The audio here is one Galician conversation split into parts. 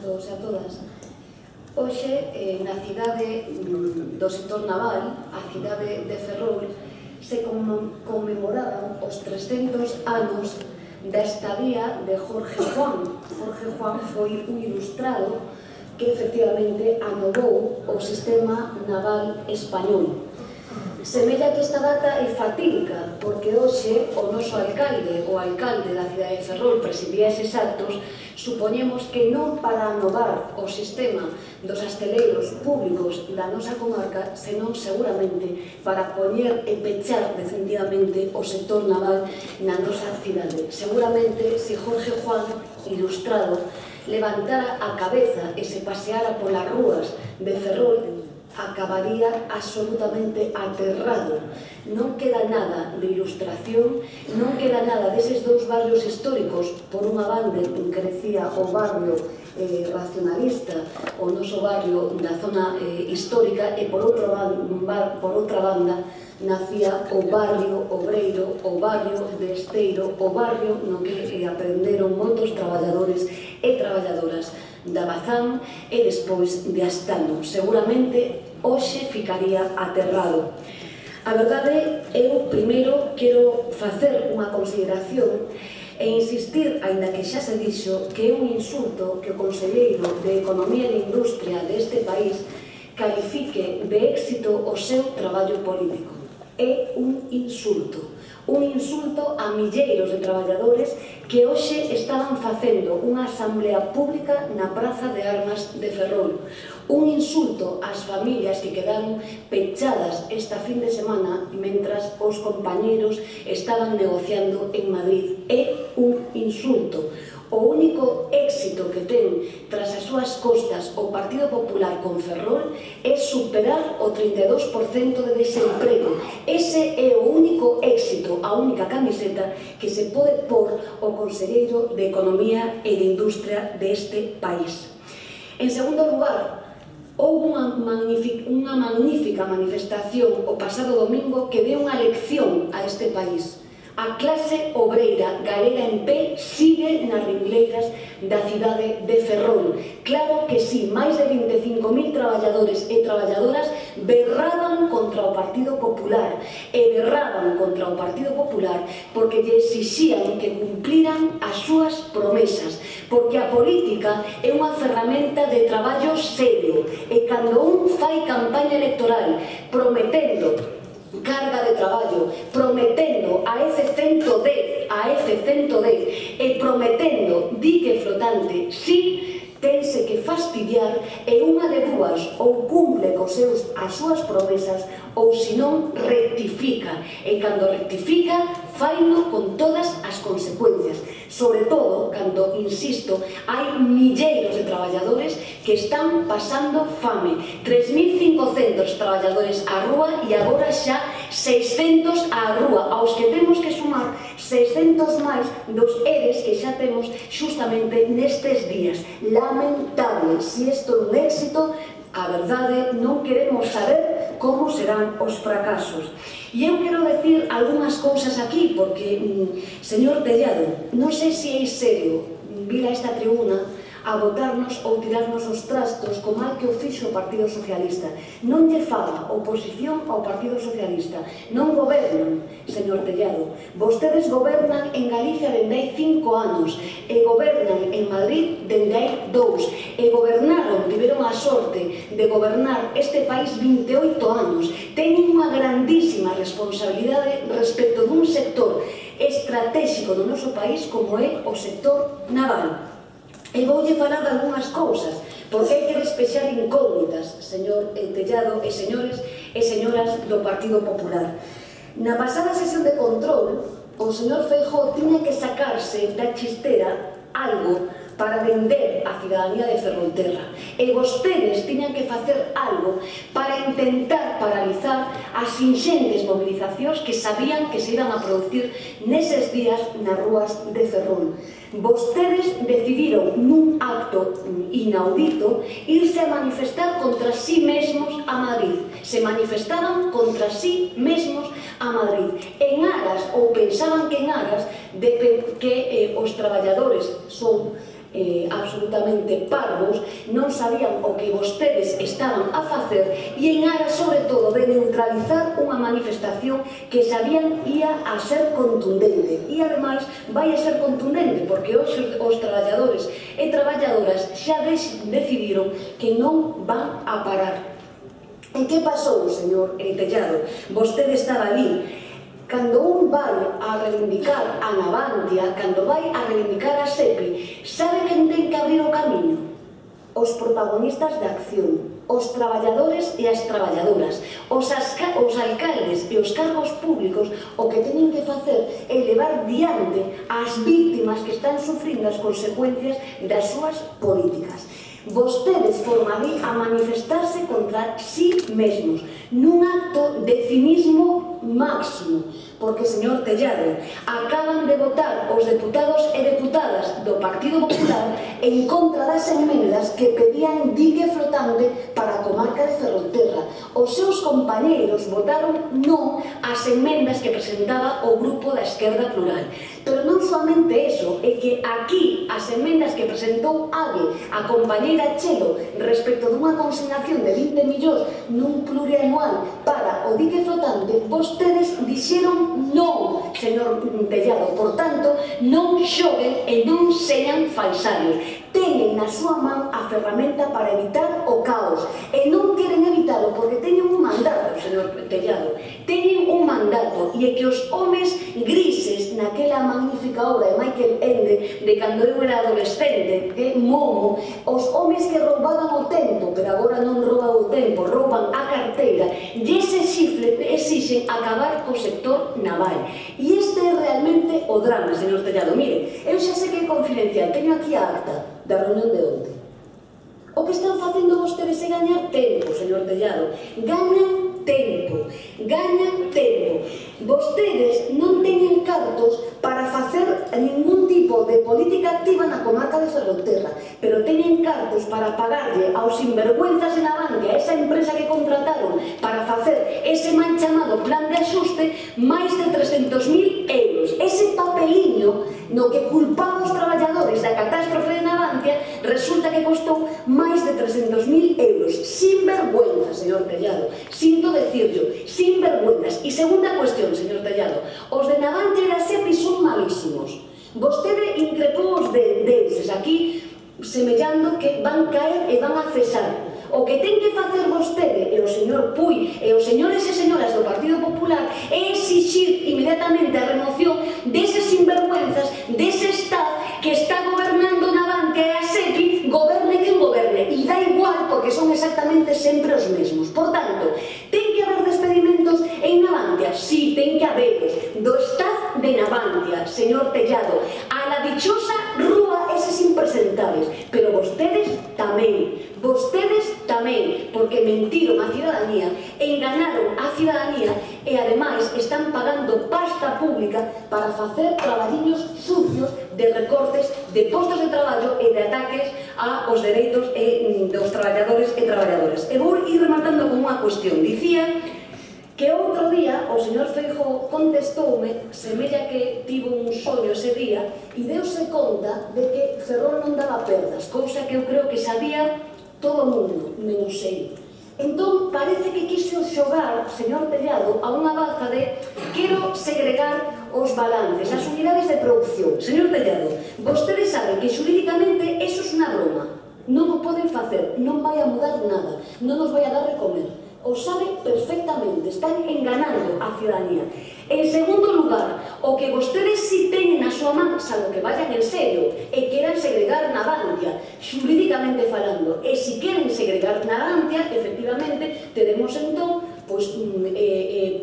todos e a todas. Hoxe, na cidade do sector naval, a cidade de Ferrol, se conmemoraban os 300 anos da estadía de Jorge Juan. Jorge Juan foi un ilustrado que efectivamente anovou o sistema naval español. Semella que esta data é fatídica, porque hoxe o noso alcalde, o alcalde da cidade de Ferrol, presidía eses actos. Supoñemos que non para anovar o sistema dos asteleiros públicos da nosa comarca, senón seguramente para poñer e pechar definitivamente o sector naval na nosa cidade. Seguramente, se Jorge Juan, ilustrado, levantara a cabeza e se paseara polas rúas de Ferrol, acabaría absolutamente aterrado. Non queda nada de ilustración, non queda nada deses dous barrios históricos. Por unha banda crecía o barrio racionalista, o noso barrio da zona histórica, e por outra banda nacía o barrio obreiro, o barrio de Esteiro, o barrio no que aprenderon moitos traballadores e traballadoras da Bazán e despois de Astano. Seguramente hoxe ficaría aterrado. A verdade, eu primeiro quero facer unha consideración e insistir, aínda que xa se dixo, que é un insulto que o conselleiro de Economía e Industria deste país califique de éxito o seu traballo político. É un insulto a milleiros de traballadores que hoxe estaban facendo unha asamblea pública na Praza de Armas de Ferrol. Un insulto ás familias que quedaron pechadas esta fin de semana mentras os compañeros estaban negociando en Madrid. É un insulto. O único éxito que ten tras as súas costas o Partido Popular con Ferrol é superar o 32% de desemprego. Ese é o único éxito, a única camiseta que se pode pôr o conselleiro de Economía e de Industria deste país. En segundo lugar, houve unha magnífica manifestación o pasado domingo que deu unha lección a este país. A clase obreira galega en pé sigue nas ringleiras da cidade de Ferrol. Claro que sí, máis de 25.000 traballadores e traballadoras berraban contra o Partido Popular e berraban contra o Partido Popular porque lle exixían que cumpliran as súas promesas, porque a política é unha ferramenta de traballo serio e cando un fai campaña electoral prometendo carga de traballo, prometendo a F-110 e prometendo dique flotante, sí, tense que fastidiar e unha de dúas, ou cumple as súas promesas ou senón rectifica, e cando rectifica faino con todas as consecuencias, sobre todo cando, insisto, hai milleiros de traballadores que están pasando fame, 3.500 traballadores á rúa e agora xa 600 á rúa, aos que temos que sumar 600 máis dos ERES que xa temos justamente nestes días. Lamentable, se isto é un éxito, a verdade non queremos saber como serán os fracasos. E eu quero decir algunhas cousas aquí, porque, señor Tellado, non sei se é serio vir a esta tribuna a botarnos ou tirarnos os trastos co mal que o fixo o Partido Socialista. Non lle faga oposición ao Partido Socialista. Non gobernan, señor Tellado. Vostedes gobernan en Galicia dende hai 5 anos e gobernan en Madrid dende hai 2 e gobernaron, tiveron a sorte de gobernar este país 28 anos. Teñen unha grandísima responsabilidade respecto dun sector estratégico do noso país como é o sector naval. E voulle falar de algunhas cousas, porque hai que despexar incógnitas, señor Tellado e señores e señoras do Partido Popular. Na pasada sesión de control, o señor Feijóo tiña que sacarse da chistera algo para vender a cidadanía de Ferrolterra. E vostedes tiñan que facer algo para intentar paralizar as inxentes movilizacións que sabían que se iban a producir neses días nas rúas de Ferrol. Vostedes decidiron nun acto inaudito irse a manifestar contra sí mesmos a Madrid. Se manifestaban contra sí mesmos a Madrid en aras, ou pensaban que en aras de que os traballadores son absolutamente parvos, non sabían o que vostedes estaban a facer e en aras, sobre todo, de neutralizar unha manifestación que sabían ia a ser contundente. E, ademais, vai a ser contundente, porque hoxe os traballadores e traballadoras xa decidiron que non van a parar. E que pasou, señor Tellado? Vostede estaba ali. Cando un vai a reivindicar a Navantia, cando vai a reivindicar a SEPI, sabe quen ten que abrir o camiño? Os protagonistas da acción, os traballadores e as traballadoras, os alcaldes e os cargos públicos. O que teñen que facer é levar diante as víctimas que están sufrindo as consecuencias das súas políticas. Vostedes foron ali a manifestarse contra sí mesmos, nun acto de cinismo máximo, porque, señor Tellado, acaban de votar os deputados e deputadas do Partido Popular en contra das enmendas que pedían dique flotante para a comarca de Ferrolterra. Os seus compañeiros votaron non ás enmendas que presentaba o grupo da Esquerda Plural. Pero non somente eso, é que aquí as enmendas que presentou a compañeira Chelo respecto dunha consignación de 20 millóns nun plurianual para o dique flotante, vostedes dixeron non, señor Tellado. Por tanto, non xoguen e non sean falsarios. Teñen na súa man a ferramenta para evitar o caos e non queren evitalo porque teñen un mandato, señor Tellado. Teñen un mandato e é que os homes grises naquela magnífica obra de Michael Ende de cando eu era adolescente, Momo, os homes que roubaban o tempo, pero agora non rouban o tempo, rouban a carteira, e ese xifre exixen acabar co sector naval. E este é realmente o drama, señor Tellado. Mire, eu xa sei que é confidencial, teño aquí a acta da reunión de onte. O que están facendo vostedes é gañar tempo, señor Tellado. Gañan tempo, gañan tempo. Vostedes non teñen cartos para facer ningún tipo de política activa na comarca de Ferrolterra, pero teñen cartos para pagarlle aos sinvergüenzas de Navantia, esa empresa que contrataron para facer ese mal chamado plan de axuste, máis de 300.000 euros. Ese papeliño no que culpaba os traballadores da catástrofe de Navantia resulta que costou máis de 300.000 euros. Sinvergüenza, señor Tellado. Sinto decirlo, sinvergüenzas. E segunda cuestión, señor Tellado, os de Navantia e da SEPI son malísimos. Vostede increpou os deles aquí semellando que van caer e van a cesar. O que ten que facer vostede e o señor Puy e os señores e señoras do Partido Popular é exixir inmediatamente a remoción deses sinvergüenzas, dese Estado que está gobernando Navantia e a SEPI, goberne quen goberne, e dá igual porque son exactamente sempre os mesmos. Por tanto, ten que haber despedimentos en Navantia? Sí, ten que haberos. Do staff de Navantia, señor Tellado, a la dichosa rúa eses impresentables, pero vostedes tamén, porque mentiron a ciudadanía, enganaron a ciudadanía e, ademais, están pagando pasta pública para facer traballiños sucios de recortes de postos de traballo e de ataques aos dereitos dos traballadores e traballadoras. E vou ir rematando con unha cuestión. Dicía que outro día o señor Feijóo contestoume, semella que tivo un soño ese día, e deuse conta de que Ferrol non daba perdas, cousa que eu creo que sabía todo o mundo, menos ele. Entón, parece que quiso xogar, señor Tellado, a unha baza de quero segregar os balances, as unidades de producción. Señor Tellado, vostede sabe que xurídicamente eso é unha broma. Non o poden facer, non vai a mudar nada, non nos vai a dar de comer. O sabe perfectamente, están enganando a ciudadanía. En segundo lugar, o que vostedes si teñen na súa man, salvo que vayan en serio, e queran segregar Navantia, xurídicamente falando, e si queren segregar Navantia, efectivamente, teremos entón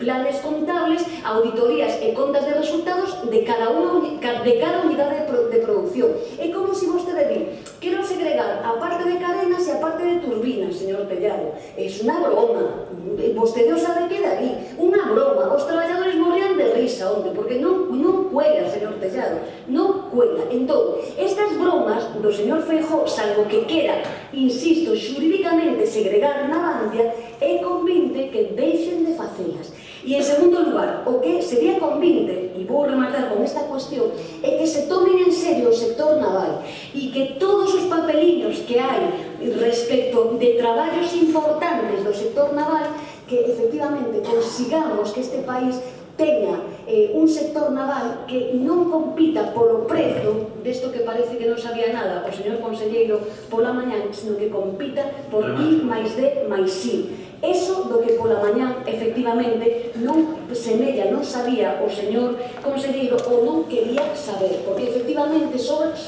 planes contables, auditorías e contas de resultados de cada unidade de producción. É como se vostede di, quero segregar a parte de cadenas e a parte de turbinas, señor Tellado. É unha broma. Vostede o sabe que dali. Unha broma. Os traballadores morrían de risa onde, porque non cuela, señor Tellado. Non cuela. Entón, estas bromas do señor Feijóo, salvo que quera, insisto, xurídicamente segregar Navantia, é convinte que deixen de facelas. E en segundo lugar, o que sería convinte, e vou rematar con esta cuestión, é que se tomen en serio o sector naval e que todos os papeliños que hai respecto de traballos importantes do sector naval, que efectivamente consigamos que este país teña un sector naval que non compita polo prezo desto que parece que non sabía nada o señor conselleiro pola mañán, sino que compita por I máis D máis I. Eso do que pola mañán efectivamente non semella, non sabía o señor conselleiro ou non quería saber, porque efectivamente somos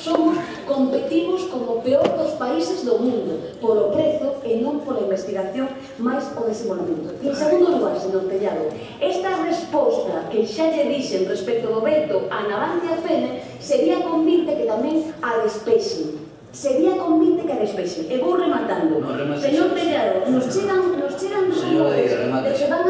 competimos como o peor dos países do mundo polo prezo e non pola investigación máis o desenvolvemento. E en segundo lugar, señor Tellado, esta resposta que xa lle dixen respecto do veto a Navantia Fene sería convinte que tamén a despexe. Sería convinte que a despexe. E vou rematando. Señor Tellado, nos chegan rumores de que van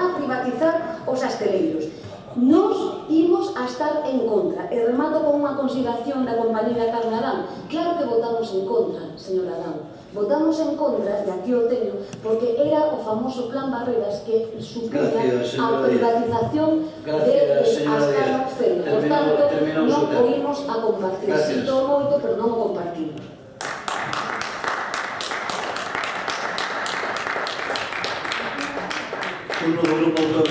a privatizar os asteleiros. Nos imos a estar en contra. E remato con unha consideración da compañera Carmen Adán. Claro que votamos en contra, señor Adán. Votamos en contra, e aquí o teño, porque era o famoso plan Barreras que supunha a privatización de Ascano Fene. Por tanto, non o imos a compartir. Sinto moito, pero non o compartimos. Turno do grupo autor